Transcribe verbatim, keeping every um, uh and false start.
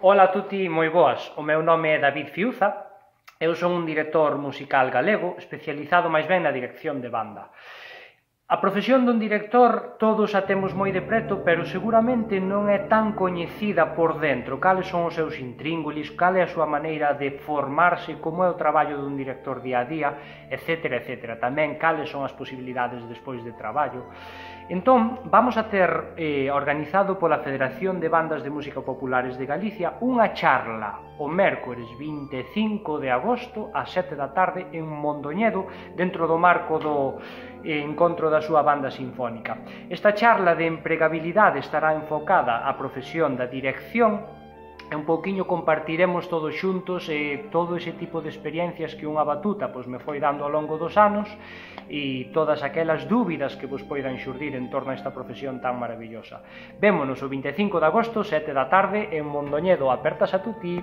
Ola a tutti, moi boas. O meu nome é David Fiuza. Eu son un director musical galego especializado máis ben na dirección de banda. A profesión dun director todos a temos moi de preto, pero seguramente non é tan coñecida por dentro. Cales son os seus intríngulis, cal é a súa maneira de formarse, como é o traballo dun director día a día, etcétera, etcétera. Tamén cales son as posibilidades despois de traballo. Entón, vamos a ter eh, organizado pola Federación de Bandas de Música Populares de Galicia unha charla o mércores vinte e cinco de agosto ás sete da tarde en Mondoñedo, dentro do marco do eh, encontro da súa banda sinfónica. Esta charla de empregabilidade estará enfocada á profesión da dirección e un pouquiño compartiremos todos xuntos eh, todo ese tipo de experiencias que unha batuta pois, me foi dando ao longo dos anos e todas aquelas dúbidas que vos poidan xurdir en torno a esta profesión tan maravillosa. Vémonos o vinte e cinco de agosto, sete da tarde, en Mondoñedo. Apertas a tutti!